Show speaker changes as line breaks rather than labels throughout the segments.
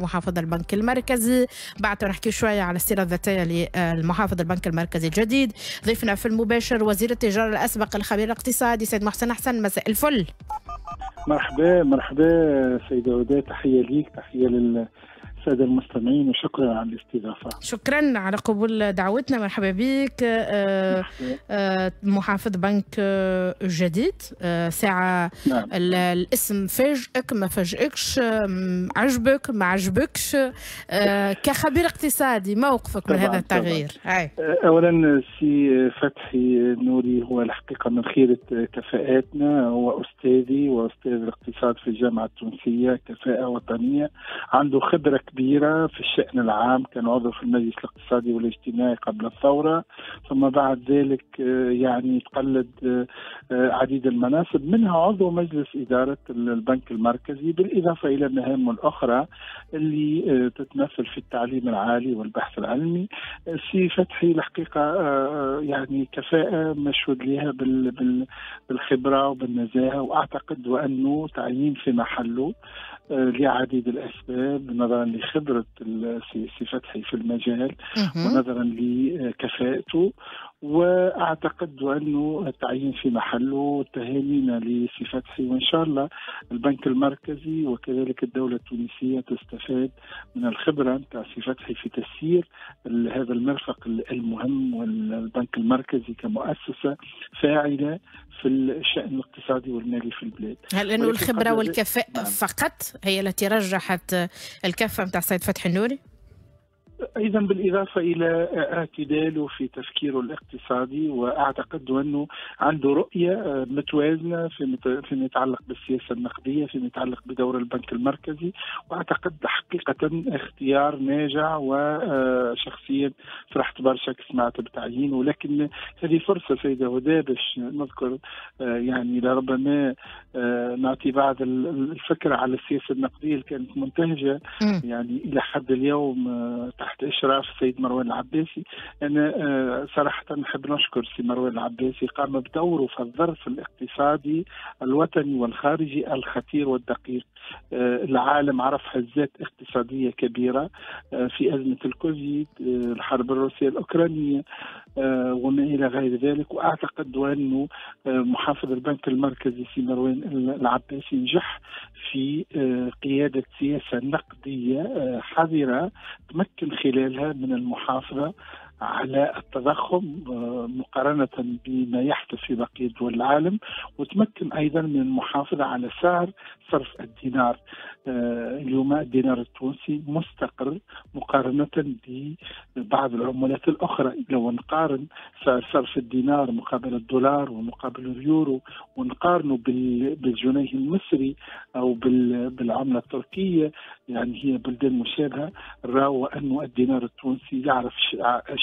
محافظ البنك المركزي. بعد نحكي شوية على السيرة الذاتية للمحافظ البنك المركزي الجديد. ضيفنا في المباشر وزير التجارة الأسبق الخبير الاقتصادي سيد محسن حسن. مساء الفل.
مرحبا مرحبا سيدة وداد، تحية ليك، تحية للسادة المستمعين وشكرا على الاستضافة.
شكرا على قبول دعوتنا، مرحبا بك. محافظ بنك جديد، ساعة. نعم. الاسم فاجئك ما فاجئكش، عجبك ما عجبكش؟ كخبير اقتصادي موقفك من هذا التغيير؟
أولا سي فتحي نوري هو الحقيقة من خيرة كفاءاتنا، هو أستاذي وأستاذ الاقتصاد في الجامعة التونسية، كفاءة وطنية، عنده خبرة كبيرة في الشأن العام، كان عضو في المجلس الاقتصادي والاجتماعي قبل الثورة، ثم بعد ذلك يعني تقلد عديد المناصب، منها عضو مجلس إدارة البنك المركزي، بالإضافة إلى مهامه الأخرى اللي تتمثل في التعليم العالي والبحث العلمي. سي فتحي الحقيقة يعني كفاءة مشهود لها بالخبرة وبالنزاهة، وأعتقد وأنه تعيين في محله لعديد الأسباب، نظرا لخبرة سي فتحي في المجال ونظرا لكفاءته، وأعتقد أنه التعيين في محله. تهانينا لسي فتحي، وإن شاء الله البنك المركزي وكذلك الدولة التونسية تستفاد من الخبرة نتاع سي فتحي في تسيير هذا المرفق المهم، والبنك المركزي كمؤسسة فاعلة في الشأن الاقتصادي والمالي في البلاد.
هل أنه الخبرة والكفاءة نعم. فقط هي التي رجحت الكفة نتاع السيد فتحي النوري؟
أيضا بالإضافة إلى اعتداله في تفكيره الاقتصادي، وأعتقد أنه عنده رؤية متوازنة فيما يتعلق بالسياسة النقدية، فيما يتعلق بدور البنك المركزي، وأعتقد حقيقة اختيار ناجع، وشخصيا فرحت برشا سمعت بتعيينه. ولكن هذه فرصة سيدة هدى باش نذكر يعني لربما نعطي بعض الفكرة على السياسة النقدية اللي كانت منتهجة يعني إلى حد اليوم تحت إشراف السيد مروان العباسي. أنا صراحة نحب نشكر سي مروان العباسي، قام بدوره في الظرف الاقتصادي الوطني والخارجي الخطير والدقيق. العالم عرف هزات اقتصادية كبيرة في أزمة الكوفيد، الحرب الروسية الأوكرانية وما إلى غير ذلك، وأعتقد أنه محافظ البنك المركزي سي مروان العباسي نجح في قيادة سياسة نقدية حذرة تمكن خلالها من المحافظة على التضخم مقارنة بما يحدث في بقية دول العالم، وتمكن أيضا من المحافظة على سعر صرف الدينار. اليوم الدينار التونسي مستقر مقارنة ببعض العملات الأخرى. لو نقارن سعر صرف الدينار مقابل الدولار ومقابل اليورو، ونقارنه بالجنيه المصري أو بالعملة التركية، يعني هي بلدان مشابهة، راوا أن الدينار التونسي يعرف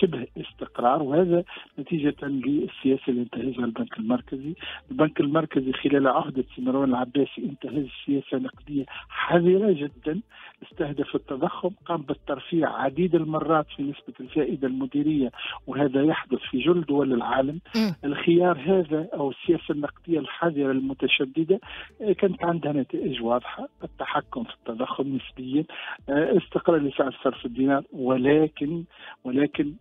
شبه استقرار، وهذا نتيجة للسياسة اللي انتهجها البنك المركزي. البنك المركزي خلال عهدة مروان العباسي انتهج سياسة نقدية حذرة جدا، استهدف التضخم، قام بالترفيع عديد المرات في نسبة الفائدة المديرية، وهذا يحدث في جل دول العالم. الخيار هذا أو السياسة النقدية الحذرة المتشددة كانت عندها نتائج واضحة، التحكم في التضخم نسبيا، استقرار لسعر صرف الدينار، ولكن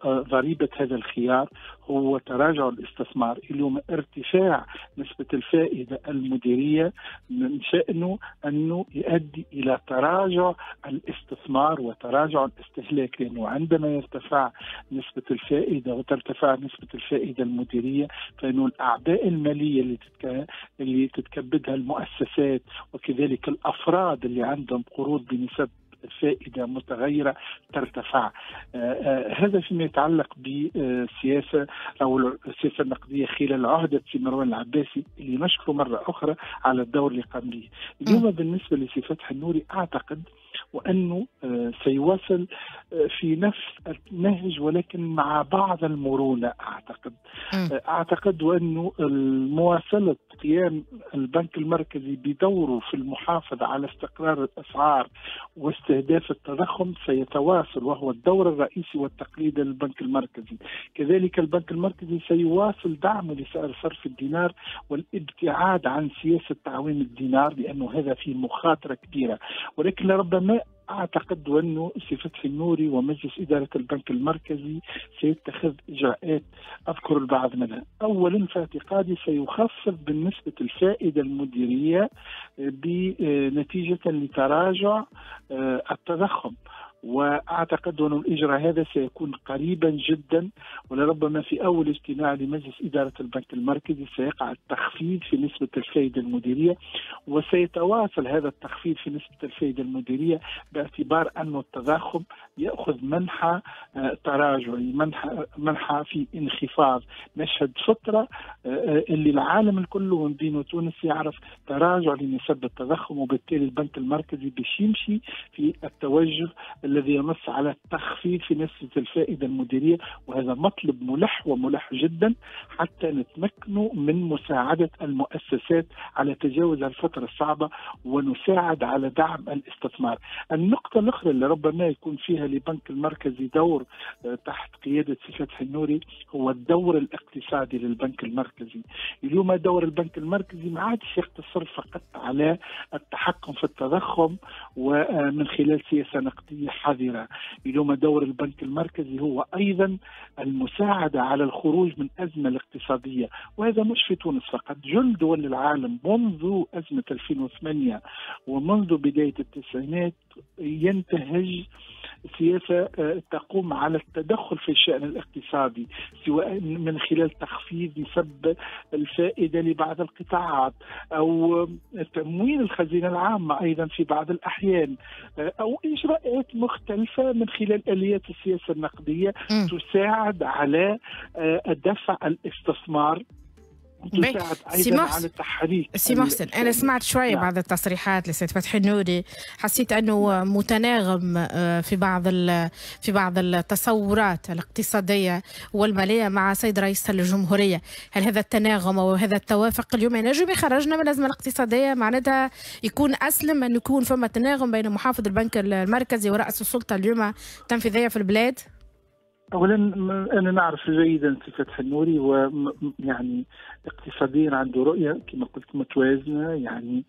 ضريبة هذا الخيار هو تراجع الاستثمار. اليوم ارتفاع نسبة الفائدة المديرية من شأنه أنه يؤدي إلى تراجع الاستثمار وتراجع الاستهلاك، لأنه عندما يرتفع نسبة الفائدة وترتفع نسبة الفائدة المديرية فإنه الأعباء المالية اللي تتكبدها المؤسسات وكذلك الأفراد اللي عندهم قروض بنسب فائدة متغيرة ترتفع. هذا فيما يتعلق بالسياسة أو السياسة النقدية خلال عهدة سي مروان العباسي اللي نشكره مرة أخرى على الدور اللي قام به. اليوم بالنسبة لسي فتحي النوري أعتقد وأنه سيواصل في نفس النهج ولكن مع بعض المرونة. أعتقد وأنه مواصلة قيام البنك المركزي بدوره في المحافظة على استقرار الأسعار واستهداف التضخم سيتواصل، وهو الدور الرئيسي والتقليدي للبنك المركزي. كذلك البنك المركزي سيواصل دعمه لسعر صرف الدينار والابتعاد عن سياسة تعويم الدينار، لأنه هذا فيه مخاطرة كبيرة. ولكن لربما أعتقد أنه سي فتحي النوري ومجلس إدارة البنك المركزي سيتخذ إجراءات أذكر البعض منها. أولا في اعتقادي سيخفض بالنسبة الفائدة المديرية بنتيجة لتراجع التضخم، وأعتقد أن الإجراء هذا سيكون قريبا جدا، ولربما في أول اجتماع لمجلس إدارة البنك المركزي سيقع التخفيض في نسبة الفائدة المديرية، وسيتواصل هذا التخفيض في نسبة الفائدة المديرية باعتبار أن التضخم يأخذ منحى تراجعي، منحى في انخفاض. نشهد فترة اللي العالم الكل ومن بينه تونس يعرف تراجع لنسب التضخم، وبالتالي البنك المركزي باش يمشي في التوجه الذي ينص على التخفيض في نسبة الفائدة المديرية، وهذا مطلب ملح وملح جدا حتى نتمكن من مساعدة المؤسسات على تجاوز الفترة الصعبة ونساعد على دعم الاستثمار. النقطة الأخرى اللي ربما يكون فيها لبنك المركزي دور تحت قيادة سي فتحي النوري هو الدور الاقتصادي للبنك المركزي. اليوم دور البنك المركزي ما عادش يقتصر فقط على التحكم في التضخم ومن خلال سياسة نقدية حذرة. اليوم دور البنك المركزي هو أيضا المساعدة على الخروج من أزمة الاقتصادية، وهذا مش في تونس فقط، جل دول العالم منذ أزمة 2008 ومنذ بداية التسعينات ينتهج سياسة تقوم على التدخل في الشأن الاقتصادي، سواء من خلال تخفيض نسب الفائدة لبعض القطاعات أو تمويل الخزينة العامة أيضا في بعض الأحيان، أو إجراءات مختلفة من خلال آليات السياسة النقدية تساعد على دفع الاستثمار، تساعد أيضا على التحريك.
سي محسن، أنا سمعت شوية بعض التصريحات لسيد فتحي النوري، حسيت أنه متناغم في بعض التصورات الاقتصادية والمالية مع سيد رئيس الجمهورية. هل هذا التناغم أو هذا التوافق اليوم ينجم يخرجنا من الأزمة الاقتصادية؟ معناتها يكون أسلم أن يكون فما تناغم بين محافظ البنك المركزي ورأس السلطة اليوم التنفيذية في البلاد؟
أولا أنا نعرف جيدا سي فتحي النوري، ويعني اقتصاديا عنده رؤية كما قلت متوازنة، يعني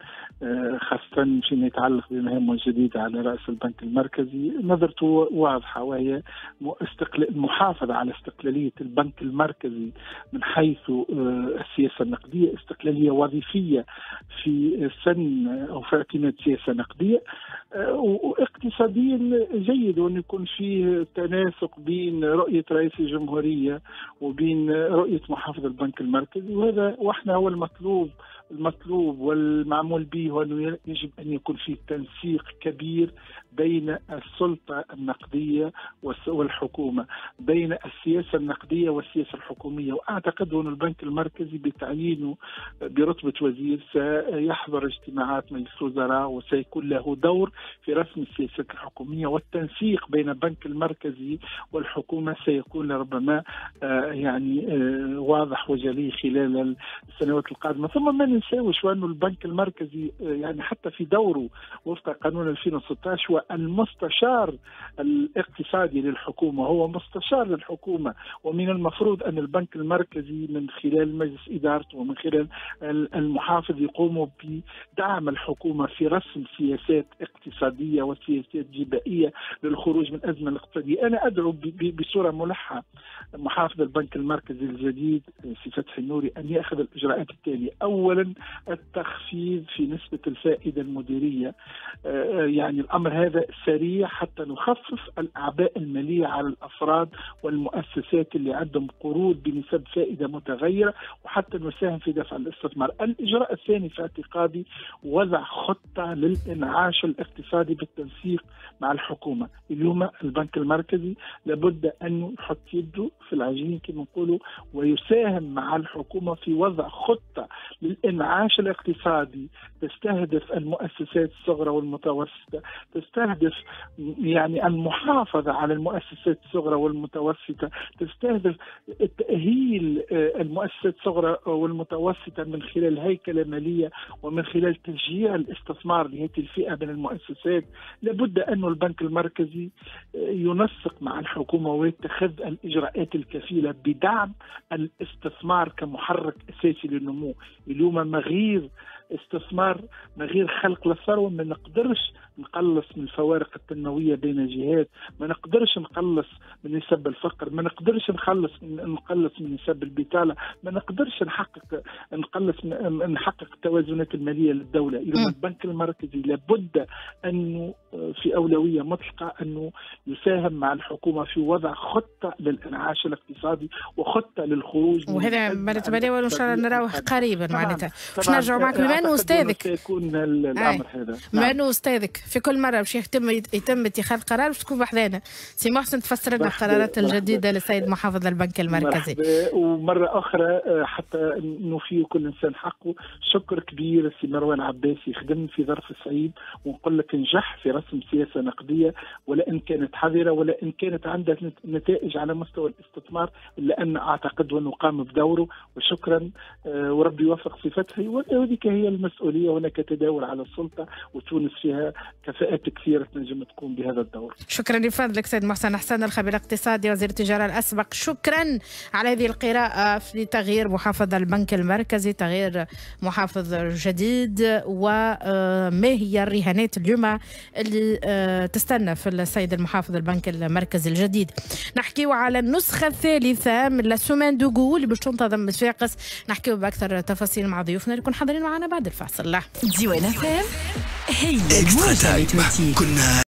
خاصة فيما يتعلق بمهامه الجديدة على رأس البنك المركزي نظرته واضحة، وهي المحافظة على استقلالية البنك المركزي من حيث السياسة النقدية، استقلالية وظيفية في سن أو في اعتماد سياسة نقدية، واقتصاديا جيد وأن يكون فيه تناسق بين رؤية رئيس الجمهورية وبين رؤية محافظ البنك المركزي، وهذا واحنا هو المطلوب والمعمول به، هو أنه يجب أن يكون فيه تنسيق كبير بين السلطة النقدية والحكومة، بين السياسة النقدية والسياسة الحكومية. وأعتقد أن البنك المركزي بتعيينه برتبة وزير سيحضر اجتماعات مجلس الوزراء وسيكون له دور في رسم السياسات الحكومية، والتنسيق بين البنك المركزي والحكومة سيكون ربما يعني واضح وجلي خلال السنوات القادمة. ثم ما ننساوش أنه البنك المركزي يعني حتى في دوره وفق قانون 2016 هو المستشار الاقتصادي للحكومة، هو مستشار للحكومة، ومن المفروض أن البنك المركزي من خلال مجلس إدارته ومن خلال المحافظ يقوموا بدعم الحكومة في رسم سياسات اقتصادية وسياسات جبائية للخروج من الأزمة الاقتصادية. أنا أدعو بصورة ملحة محافظ البنك المركزي الجديد سي فتحي النوري أن يأخذ الإجراءات التالية: أولا التخفيض في نسبة الفائدة المديرية، يعني الأمر هذا سريع حتى نخفف الأعباء المالية على الأفراد والمؤسسات اللي عندهم قروض بنسب فائدة متغيرة، وحتى نساهم في دفع الاستثمار. الإجراء الثاني في اعتقادي وضع خطة للإنعاش الاقتصادي بالتنسيق مع الحكومة. اليوم البنك المركزي لابد أن يحط يده في العجين كما نقولوا ويساهم مع الحكومة في وضع خطة للإنعاش الاقتصادي تستهدف المؤسسات الصغرى والمتوسطة، تستهدف يعني المحافظة على المؤسسات الصغرى والمتوسطة، تستهدف تأهيل المؤسسات الصغرى والمتوسطة من خلال هيكلة مالية ومن خلال تشجيع الاستثمار لهذه الفئة من المؤسسات. لابد أن البنك المركزي ينسق مع الحكومة ويتخذ الإجراءات الكفيلة بدعم الاستثمار كمحرك أساسي للنمو. اليوم مغير استثمار، من غير خلق للثروه ما نقدرش نقلص من الفوارق التنموية بين الجهات، ما نقدرش نقلص من نسب الفقر، ما نقدرش نقلص من نسب البطاله، ما نقدرش نحقق التوازنات المالية للدوله. اذا البنك المركزي لابد انه في اولوية مطلقه انه يساهم مع الحكومة في وضع خطه للانعاش الاقتصادي وخطه للخروج.
وهذا بالنسبة وان شاء الله نروح قريبا معناتها باش نرجعوا معك، بما انه استاذك
سيكون الامر هذا.
بما انه استاذك في كل مرة باش يتم اتخاذ قرار باش تكون بحذانا سي محسن تفسر لنا القرارات الجديدة للسيد محافظ البنك المركزي.
ومرة اخرى حتى نوفي كل انسان حقه، شكر كبير سي مروان عباسي، خدم في ظرف صعيب ونقول لك نجح في رسم سياسة نقدية، ولا ان كانت حذره ولا ان كانت عندها نتائج على مستوى الاستثمار، الا ان اعتقد انه قام بدوره. وشكرا وربي يوفق في فتحي، وهذيك هي المسؤوليه، هناك تداول على السلطة وتونس فيها كفاءات كثيرة تنجم تقوم بهذا الدور.
شكرا لفضلك سيد محسن حسن، الخبير الاقتصادي وزير التجارة الاسبق، شكرا على هذه القراءة في تغيير محافظ البنك المركزي، تغيير محافظ جديد، وما هي الرهانات اليوم اللي تستنى في السيد المحافظ البنك المركزي الجديد. نحكيو على النسخة الثالثة من la semaine du goût اللي باش تنتظم بصفاقس، نحكيو باكثر تفاصيل مع ضيوفنا اللي يكون حاضرين معنا بعد الفاصل.
ديوان FM هي الموجة.